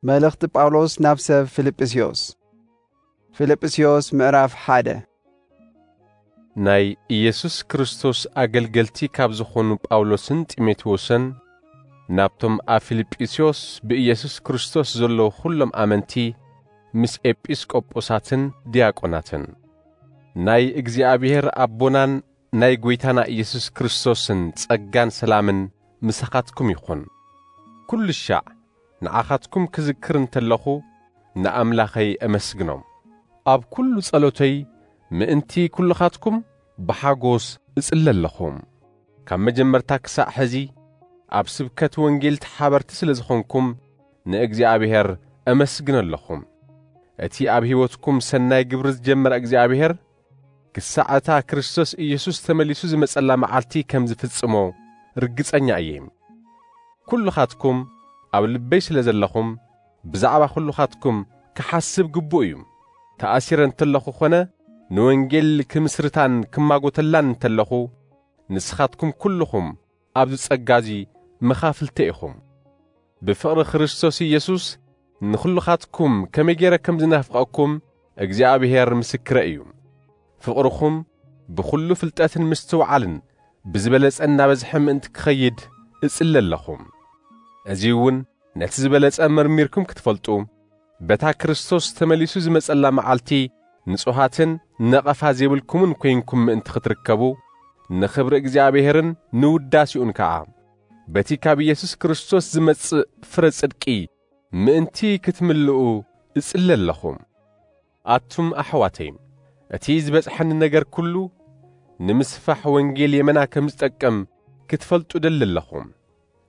መልእኽቲ ጳውሎስ ናብ ሰብ ፊልጵስዮስ። ፊልጵስዮስ ምዕራፍ ሓደ። ናይ ኢየሱስ ክርስቶስ ኣገልገልቲ ካብ ዝኾኑ ጳውሎስን ጢሞቴዎስን፣ ናብቶም ኣብ ፊልጵስዮስ ብኢየሱስ ክርስቶስ ዘለዉ ኹሎም ኣመንቲ፣ ምስ ኤጲስቆጶሳትን ዲያቆናትን። ናይ እግዚኣብሔር ኣቦናን ናይ ጐይታና ኢየሱስ ክርስቶስን ጸጋን ሰላምን ምሳኻትኩም ይኹን። ኩሉ ሻዕ ንዓኻትኩም ክዝክር እንተለኹ፣ ንኣምላኸይ እመስግኖ። ኣብ ኩሉ ጸሎተይ ምእንቲ ኩልኻትኩም ብሓጎስ እጽለ ኣለኹ። ካብ መጀመርታ ክሳዕ ሕዚ ኣብ ስብከት ወንጌል ተሓበርቲ ስለ ዝኾንኩም ንእግዚኣብሔር እመስግን ኣለኹ። እቲ ኣብ ሕይወትኩም ሰናይ ግብሪ ዝጀመረ እግዚኣብሔር ክሳዕ እታ ክርስቶስ ኢየሱስ ተመሊሱ ዝመጸላ መዓልቲ ከም ዝፍጽሞ ርግጸኛ እየ። ኩልኻትኩም ኣብ ልበይ ስለ ዘለኹም ብዛዕባ ኩልኻትኩም ክሓስብ ግቡእ እዩ። ተኣሲረ እንተለኹ ኾነ ንወንጌል ክምስርታን ክማጎተላን እንተለኹ ንስኻትኩም ኩልኹም ኣብዚ ጸጋ እዚ መኻፍልተ ኢኹም። ብፍቕሪ ክርስቶስ ኢየሱስ ንኹልኻትኩም ከመይ ገይረ ከም ዝናፍቐኩም እግዚኣብሔር ምስክረ እዩ። ፍቕርኹም ብኹሉ ፍልጠትን ምስትውዓልን ብዝበለጸ እናበዝሐ ምእንቲ ክኸይድ እጽሊ ኣለኹ። እዚ እውን ነቲ ዝበለጸ መርሚርኩም ክትፈልጡ፣ በታ ክርስቶስ ተመሊሱ ዝመጸላ መዓልቲ ንጹሃትን ነቐፋ ዘይብልኩምን ኮይንኩም ምእንቲ ክትርከቡ፣ ንኽብሪ እግዚኣብሔርን ንውዳሴኡን ከኣ፣ በቲ ካብ ኢየሱስ ክርስቶስ ዝመጽእ ፍረ ጽድቂ ምእንቲ ክትምልኡ እጽሊ ኣለኹ። ኣቱም ኣሕዋተይ፣ እቲ ዝበጽሐኒ ነገር ኩሉ ንምስፋሕ ወንጌል የመና ከም ዝጠቅም ክትፈልጡ እደሊ ኣለኹ።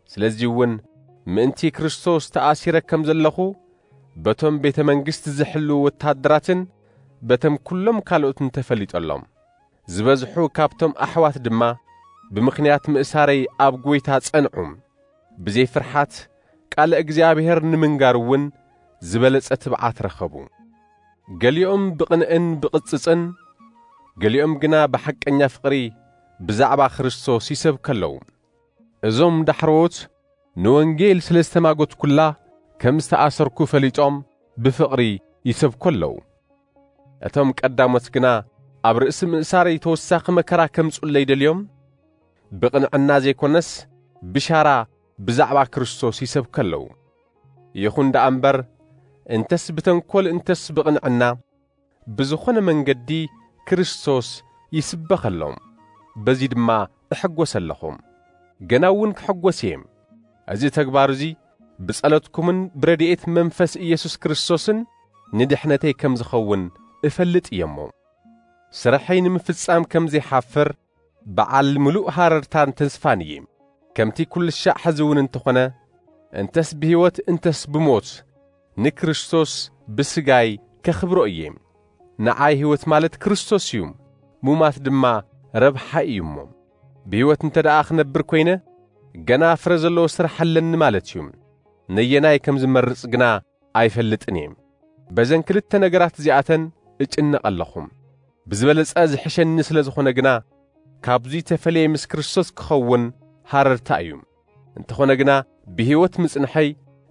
ስለዚ እውን ምእንቲ ክርስቶስ ተኣሲረ ከም ዘለኹ በቶም ቤተ መንግስቲ ዝሕልዉ ወታደራትን በቶም ኩሎም ካልኦትን ተፈሊጠሎም። ዝበዝሑ ካብቶም ኣሕዋት ድማ ብምኽንያት ምእሳረይ ኣብ ጐይታ ጸንዑ። ብዘይ ፍርሓት ቃለ እግዚኣብሔር ንምንጋር እውን ዝበለጸ ትብዓት ረኸቡ። ገሊኦም ብቕንእን ብቕጽጽን፣ ገሊኦም ግና ብሓቀኛ ፍቕሪ ብዛዕባ ክርስቶስ ይሰብኩ ኣለዉ። እዞም ዳሕረዎት ንወንጌል ስለ ዝተማጎትኩላ ከም ዝተኣሰርኩ ፈሊጦም ብፍቕሪ ይሰብኩ ኣለዉ። እቶም ቀዳሞት ግና ኣብ ርእሲ ምእሳረይ ተወሳኺ መከራ ከምጽኡለይ ደልዮም፣ ብቕንዕና ዘይኮነስ ብሻራ ብዛዕባ ክርስቶስ ይሰብኩ ኣለዉ። ይኹን ደኣ እምበር፣ እንተስ ብተንኮል እንተስ ብቕንዕና፣ ብዝኾነ መንገዲ ክርስቶስ ይስበኸሎም። በዚ ድማ እሕጎስ ኣለኹ። ገና እውን ክሕጎስ እየ። እዚ ተግባር እዚ ብጸሎትኩምን ብረድኤት መንፈስ ኢየሱስ ክርስቶስን ንድሕነተይ ከም ዝኸውን እፈልጥ እየ እሞ፣ ስርሐይ ንምፍጻም ከም ዘይሓፍር በዓል ምሉእ ሃረርታን ተስፋን እየ። ከምቲ ኩሉ ሻዕ ሕዚ እውን እንተኾነ፣ እንተስ ብህይወት እንተስ ብሞት ንክርስቶስ ብስጋይ ከኽብሮ እየ። ንዓይ ህይወት ማለት ክርስቶስ እዩ፣ ሙማት ድማ ረብሓ እዩ እሞ። ብህይወት እንተ ደኣ ክነብር ኮይነ፣ ገና ፍረ ዘለዎ ስራሕ ኣለኒ ማለት እዩ። ነየናይ ከም ዝመርጽ ግና ኣይፈልጥን እየ። በዘን ክልተ ነገራት እዚኣተን እጭነቕ ኣለኹ። ብዝበለጸ ዝሕሸኒ ስለ ዝኾነ ግና፣ ካብዚ ተፈልየ ምስ ክርስቶስ ክኸውን ሃረርታ እዩ። እንተኾነ ግና፣ ብህይወት ምጽንሐይ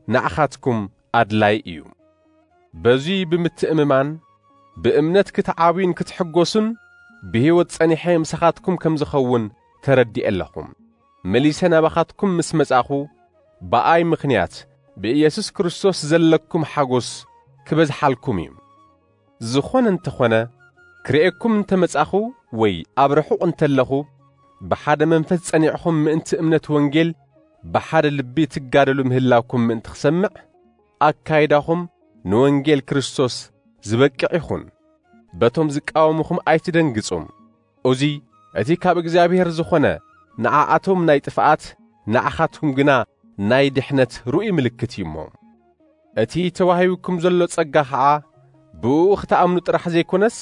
ንዓኻትኩም ኣድላይ እዩ። በዚ ብምትእምማን፣ ብእምነት ክትዓብዩን ክትሕጎሱን፣ ብህይወት ጸኒሐ ምሳኻትኩም ከም ዝኸውን ተረዲኤ ኣለኹ። መሊሰ ናባኻትኩም ምስ መጻኹ፣ ብኣይ ምኽንያት ብኢየሱስ ክርስቶስ ዘለኩም ሓጎስ ክበዝሓልኩም እዩ። ዝኾነ እንተኾነ፣ ክርእየኩም እንተመጻኹ ወይ ኣብ ርሑቕ እንተለኹ፣ ብሓደ መንፈስ ጸኒዕኹም ምእንቲ እምነት ወንጌል ብሓደ ልቢ ትጋደሉ ምህላውኩም ምእንቲ ክሰምዕ፣ ኣካይዳኹም ንወንጌል ክርስቶስ ዝበቅዕ ይኹን። በቶም ዝቃወሙኹም ኣይትደንግጹ። እዚ እቲ ካብ እግዚኣብሔር ዝኾነ ንዓኣቶም ናይ ጥፍኣት፣ ንዓኻትኩም ግና ናይ ድሕነት ርኡይ ምልክት እዩ እሞ። እቲ ተዋሂቡኩም ዘሎ ጸጋ ኸዓ ብእኡ ክትኣምኑ ጥራሕ ዘይኮነስ፣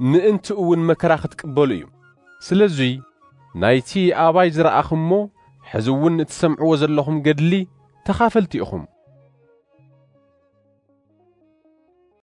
ምእንትኡ እውን መከራ ክትቅበሉ እዩ። ስለዙይ ናይቲ ኣባይ ዝረኣኹሞ፣ ሕዚ እውን እትሰምዕዎ ዘለኹም ገድሊ ተኻፈልቲ ኢኹም።